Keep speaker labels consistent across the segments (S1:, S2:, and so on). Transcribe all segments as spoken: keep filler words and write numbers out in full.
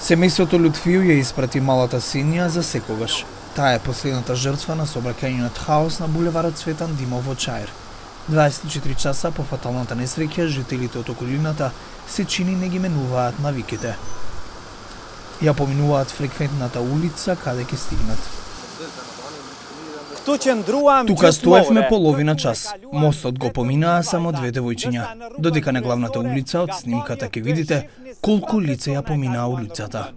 S1: Семејството Лутфију ја испрати малата Сенија за секогаш. Таа е последната жртва на сообраќајниот хаос на булеварот Цветан Димов во Чаир. дваесет и четири часа по фаталната несреќа, жителите од околината се чини не ги менуваат навиките. Ја поминуваат фреквентната улица каде ќе стигнат. Тука стоевме половина час. Мостот го поминаа само две девојчиња. Додека на главната улица од снимката ќе видите колку лица ја поминаа улицата.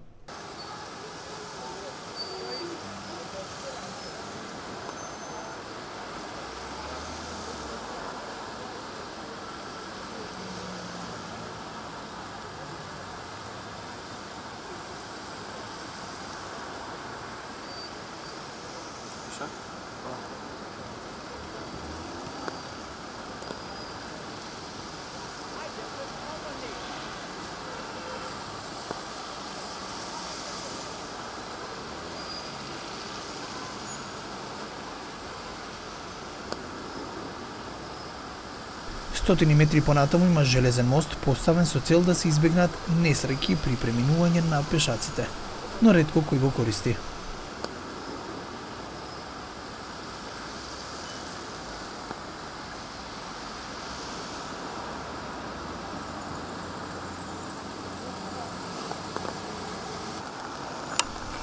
S1: Стотини метри понатаму има железен мост поставен со цел да се избегнат несреќи при преминување на пешаците, но ретко кој го користи.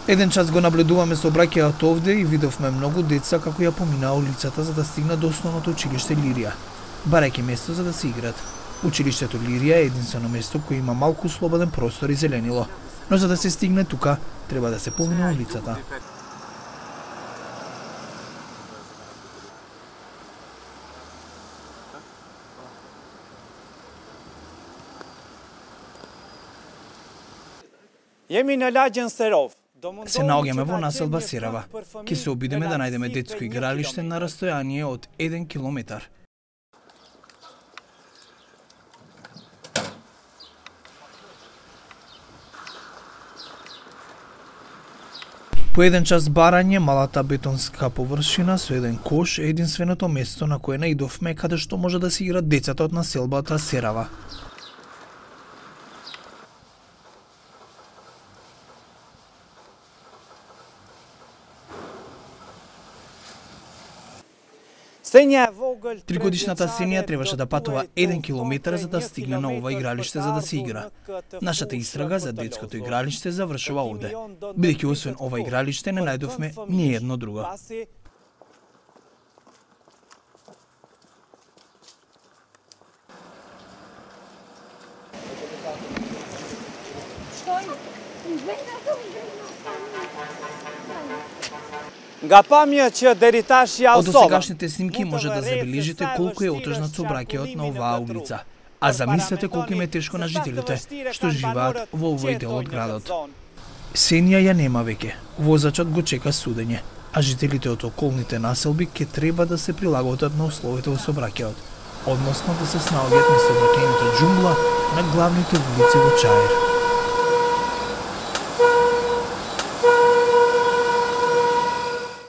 S1: Еден час го наблюдуваме сообраќајот овде и видовме многу деца како ја поминаа улицата за да стигнат до основното училиште Лирија, барајќи место за да се играт. Училиштето Лирија е единствено место кој има малку слободен простор и зеленило, но за да се стигне тука треба да се помине улицата.
S2: Jemi në lagjën Serov.
S1: Се наоѓаме во населба Серава. Ќе се обидеме да најдеме детско игралиште на растојание од еден километар. По еден час барање, малата бетонска површина со еден кош е единственото место на кое наидовме каде што може да се играат децата од населбата Серава. Тригодишната Сенија требаше да патува еден километар за да стигне на ова игралиште за да се игра. Нашата истрага за детското игралиште завршува овде, бидејќи освен ова игралиште не најдовме ни едно друго. Од досегашните снимки може да забележите колку е отежнат сообраќајот на оваа улица. А замислете колку им е тешко на жителите што живеат во овој дел од градот. Сенија ја нема веќе. Возачот го чека судење, а жителите од околните населби ќе треба да се прилагодат на условите во сообраќајот, односно да се снаоѓаат на сообраќајната џунгла на главните улици во Чаир.